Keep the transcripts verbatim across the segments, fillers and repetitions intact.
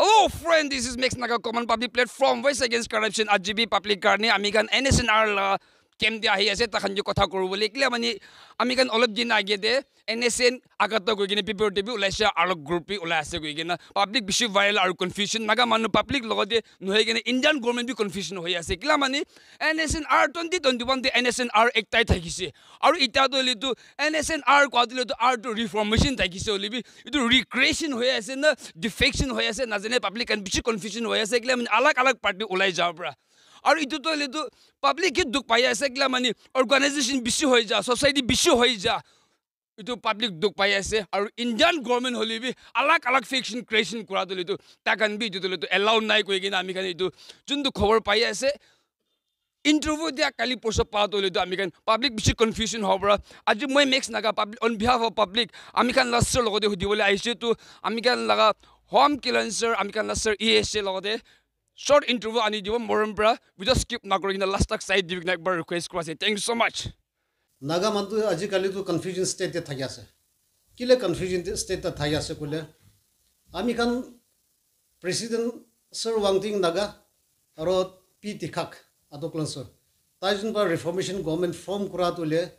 Hello friend, this is Max Naga Common Public Platform, Voice Against Corruption, R G B Public karne ami khan N S N R la camp te ahi ase, takhan ke kotha kuru bole. Ekla mani ami khan olop din age te N S N Agato koi kena paper te bi ulai ase, aru group bi ulai ase koi kena public bishi viral aru confusion, Naga manu public logote nohoi kena Indian government bi confusion hoi ase. Ekla mani N S N R twenty twenty-one te N S N R ektai thakise. Aru ita to hoile tu N S N R kwa to hoile tu R to reformation thakise hoile bi itu recreation hoi ase na defection hoi ase na jane, public khan bishi confusion hoi ase. Ekla mani alag alag party ulai ja pra. Aru itu to hoile tu public ke dukh pai ase, ekla mani organization bishi hoi ja, society bishi hoi ja. Itu public dukh pai ase. Aru Indian government hole bi alag alag faction creation kura to hoile tu takhan bi itu to hoile tu allow nai koi kena ami khan itu juntu khobor pai ase. Interview dia kali porso pa to hoile tu ami khan public bishi confusion hobo pra. Aji moi Max Naga public, on behalf of public, ami khan la sir logote hudi bole aise tu ami khan laga Home Kilan sir, ami khan la sir E S A logote short interview ani dibo morom pra. Video skip na kuri kena last tak side dibi kena ekbar request kura ase. Thank you so much. Naga manu tu ajikali tu confusion state te thaki ase. Kile confusion te- state te thaki ase koile, ami khan President Sir Wangting Naga aro P Tikhak Atok Langsor, tai jun para reformation government form kura tu le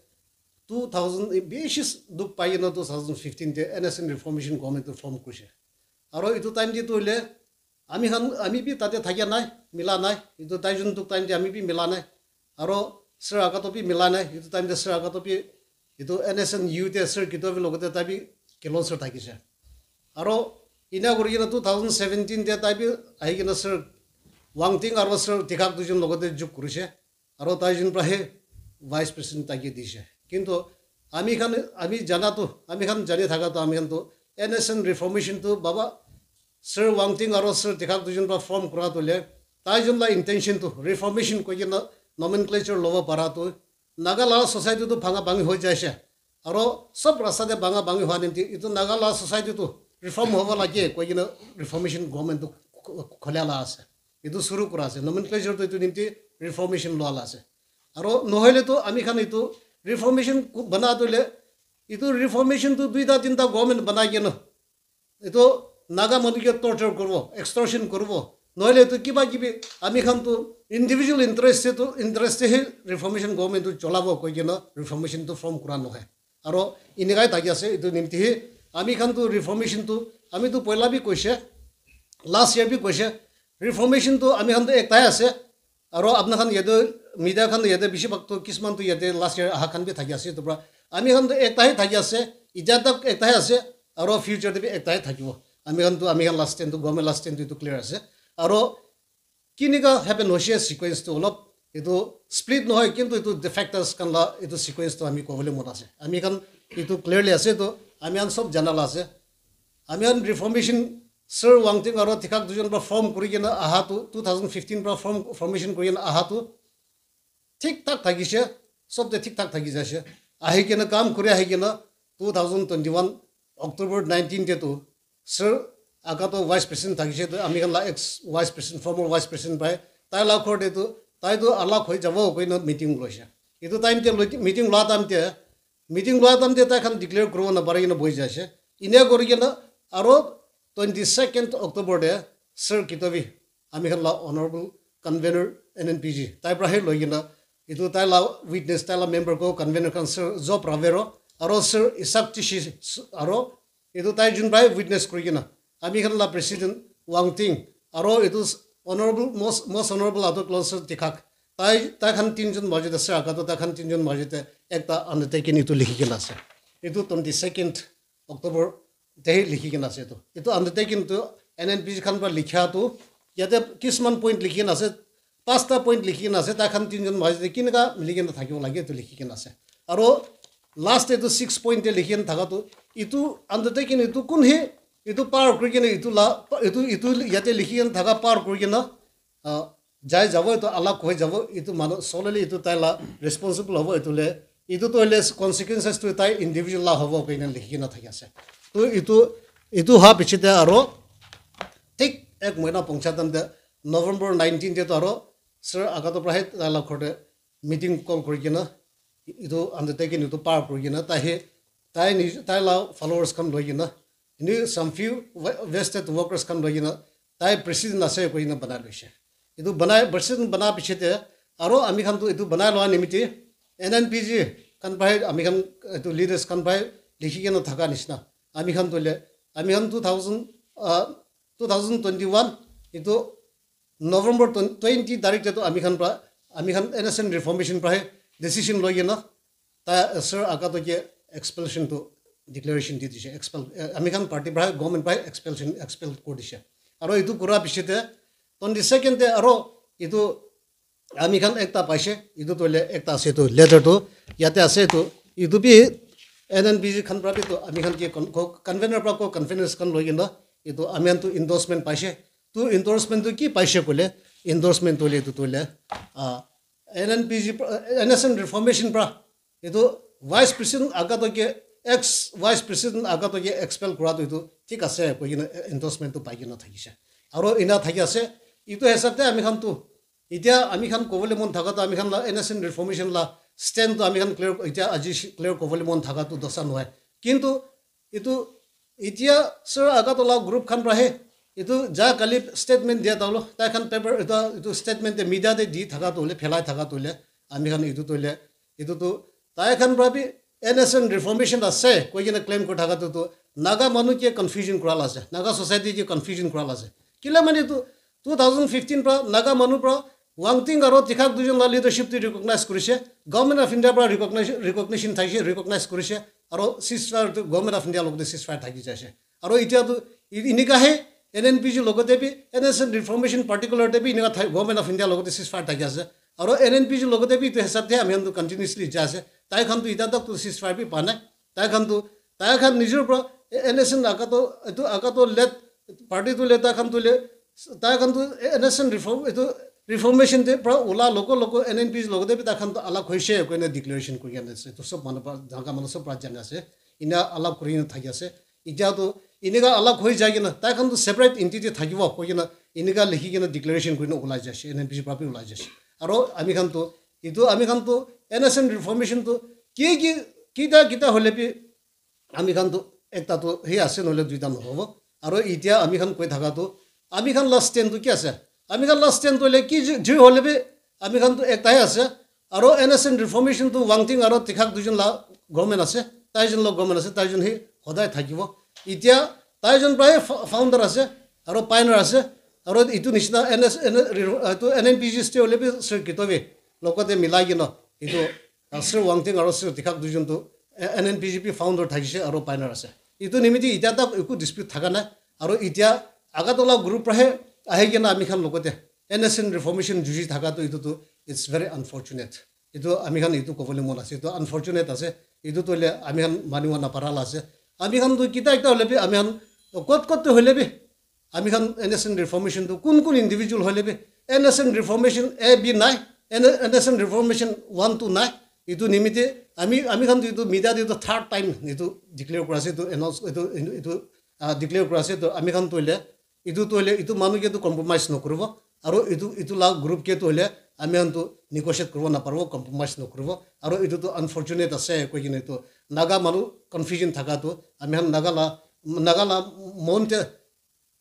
two thousand, bishi dukh pai kena two thousand fifteen te N S N reformation government tu form kurise. Aro itu time te tu le ami khan, ami bi tate thakia nai, mila nai. Itu tai jun dukh time te ami bi mila nai. Aro Sir Agato bi mila nai. Itu time te Sir Agato bi itu N S N U te Sir Kitovi logote tai bi Kilonser thakise. Aro ina kuri kena two thousand seventeen te tai bi ahi kena Sir Wangting aro Sir Tikhak duijun logote juk kurise. Aro tai jun pra he vice president tai ke dise. Kintu ami khan, ami jana tu, ami khan jani thaka tu, ami khan tu N S N reformation tu baba Sir Wangting aro Sir Tikhak duijun pra form kura tu le, tai jun la intention tu reformation koi kena nomenclature lobo para tu Naga la society tu bhanga bhangi hoi jaise. Aro sob rasta te bhanga bhangi hua nimti itu Naga la society tu reform hobo lage koi kena reformation government tu kho- kholia la ase. Itu suru kura ase. Nomenclature tu itu nimti reformation loa la ase. Aro nohoile tu ami khan itu reformation ku- bana tu le, itu reformation tu duita tinta government banai kena itu Naga manu ke torture kuribo, extortion kuribo. Nohoile tu kiba kibi ami khan tu individual interest se tu, interest se he reformation government tu cholabo koi kena reformation tu form kura nohoi. Aro inikai thaki ase, itu nimti he ami khan tu reformation tu, ami tu poila bi koise, last year bi koise, reformation tu ami khan tu ektai ase. Aro apna khan yate, media khan yate bishi bhag tu kisman tu yate last year aha khan bi thaki ase, itu pra ami khan tu ekta hi thaki ase, itya tak ekta hi ase, aro future te bi ekta hi thakibo. Ami khan tu, ami khan la stand tu, government la stand tu itu clear ase. Aro kinika happen hoise sequence tu olop, itu split nohoi, kintu itu defectors khan la itu sequence tu ami kobole mon ase. Ami khan itu clearly ase, tu ami khan sob jana la ase. Ami khan reformation, Sir Wangting aro Tikhak dujon pra form kuri kena aha tu, two thousand fifteen pra form, formation kuri kena aha tu thik thak thakise, sob te thik thak thaki jaise. Ahi kena kam kuri ahi kena two thousand twenty-one October nineteen te tu Sir Agato vice president thakise, tu ami khan la ex vice president, former vice president pai, tai la ghor te tu, tai tu alak hoi jabo koi na meeting loise. Itu time te loi- meeting la time te, meeting la time te tai khan declare kuribo na pari kena bohi jaise. Inia kuri kena aro twenty-second October te Sir Kitovi, ami khan la honorable convener N N P G, tai pra he loi kena, itu tai la witness, tai la member ko convener khan Sir Job Ravero, aro Sir Isaac Tishi, aro itu tai jun pra he witness kuri kena, ami khan la president Wangting, aro itu honorable, most, most honorable Atok Langsor Tikhak, tai, tai khan tinjun majot ase, Agato tai khan tinjun majot te ekta undertaking itu likhi kena ase. Itu twenty-second October te likhi kena ase itu. Itu undertaking tu N N P G khan pra likha tu, yate kisman point likhi kena ase, pasta point likhi kena ase, tai khan tinjun majot te kineka mili kena thakibo lage itu likhi kena ase. Aro last te itu six point te likhi kena thaka tu, itu undertaking itu kun he, itu power kuri kena itu la, itu, itu yate likhi kena thaka power kuri kena, ah, jai jabo, itu alak hoi jabo, itu manu solely itu tai la responsible hobo, itu le, itu to le consequences tu tai individual la hobo koi na likhi kena thaki ase. Tu itu, itu ha piche te aro thik ek mahina pongcha time te November nineteen te to aro Sir Agato pra he tai la ghor te meeting call kuri kena itu undertaking itu power kuri kena tai he, tai ni, tai la followers khan loi kena, ini some few ve- vested workers khan loi kena tai president ase koina banai loise. Etu banai, president bana piche te aro ami khan tu etu banai loa nimiti N N P G khan pai, ami khan etu leaders khan pai likhi kena thaka nishina. Ami khan tu le, ami khan two thousand, uh, two thousand twenty-one etu November twenty tarik te tu ami khan pra, ami khan N S N reformation pra he decision loi kena ta Sir Agato ke expulsion tu declaration di dishe, expel, eh, ami khan party pra, government pra expulsion, expel kuri dishe. Aro etu kura piche te twenty second te aro etu ami khan ekta paise, etu tu le ekta ase tu letter tu yate ase tu, etu bi N N P G khan pra bi tu ami khan ke con-, co-, convener pra ko conveners khan loi kena etu ami khan tu endorsement paise. Tu endorsement tu ki paise koile, endorsement tu le etu tu le, ah, N N P G pra, N S N reformation pra etu vice president Agato ke, ex vice president Agato ke expel kura tu etu thik ase koi kena endorsement tu pai kena thakise. Aro ena thaki ase, etu hisab te ami khan tu, etia ami khan kobole mon thaka tu ami khan la N S N reformation la stand tu ami khan clear, etia aji shi-, clear kobole mon thaka tu dosa nohoi. Kintu etu etia Sir Agato la group khan pra he etu ja kali statement dia ta lo, tai khan paper eta etu statement te media te di thaka tu le, phelai thaka tu le, ami khan etu tu le, etu tu tai khan pra bi N S N reformation ase koi kena claim kuri thaka tu tu Naga manu ke confusion kura la ase, Naga society ke confusion kura la ase. Kila mane tu two thousand fifteen pra Naga manu pra Wangting aro Tikhak dujon la leadership tu recognize kurise, Government of India pra recognition, recognition thaise, recognize kurise, aro ceasefire tu Government of India logote ceasefire thaki jaise. Aro etia tu i-, inika he N N P G logote bi, N S N reformation particular te bi inika thai, Government of India logote ceasefire thaki ase. Aro N N P G logote bi etu hisab te ami khan tu continuously jai ase. Tai khan tu etia tak tu ceasefire bi pa nai. Tai khan tu, tai khan nijor pra, eh, N S N Agato, etu Agato led party tu le, tai khan tu le, tai khan tu, eh, N S N reform, etu reformation te pra ula logo logo N N P G logote bi tai khan tu alag hoise koina declaration kuri kena ase. Etu sob manu pra, Naga manu sob pra jana ase. Ina alag kuri kena thaki ase. Etia tu inika alag hoi jai kena, tai khan tu separate entity thakibo koi kena, inika likhi kena declaration kuri kena ulai jaise, N N P G pra bi ulai jaise. Aro ami khan tu, etu ami khan tu N S N reformation tu ki ki, kita kita hole bi ami khan tu ekta tu he ase nohole duita nohobo. Aro etia ami khan koi thaka tu, ami khan la stand tu ki ase? Ami khan la stand tu hoile ki ji, ji hole bi ami khan tu ekta he ase. Aro N S N reformation tu Wangting aro Tikhak dujon la government ase, taijon la government ase, taijon he hodai thakibo. Etia taijon pra he fo-, founder ase, aro pioneer ase, aro etu nishina N S, N-, re-, etu N N P G stay hole bi Sir Kitovi logote milai kena etu, uh, Sir Wangting aro Sir Tikhak dujon tu, eh, N N P G bi founder thakise aro pioneer ase. Etu nimiti etia tak eku dispute thaka nai. Aro etia Agartala group pra he ahi kena ami khan logote N S N reformation juji thaka tu etu tu it's very unfortunate. Etu ami khan etu kobole mon ase, etu unfortunate ase. Etu tu hoile ami khan manibo napara la ase. Ami khan tu kita ekta hole bi ami khan kot kot tu hole bi ami khan N S N reformation tu kun kun individual hole bi N S N reformation A B nai, N-, N S N reformation one two nai. Etu nimite ami, ami khan tu etu media te tu third time etu declare kura ase, etu announce, etu, etu, ah, declare kura ase. Tu ami khan tu hoile etu tu hoile etu manu ke tu compromise nokuribo, aro etu, etu la group ke tu hoile ami khan tu negotiate kuribo naparibo, compromise nokuribo, aro etu tu unfortunate ase koi kena etu Naga manu confusion thaka tu ami khan Naga la, Naga la mon te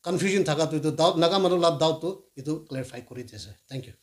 confusion thaka tu etu doubt, Naga manu la doubt tu etu clarify kuri di ase. Thank you.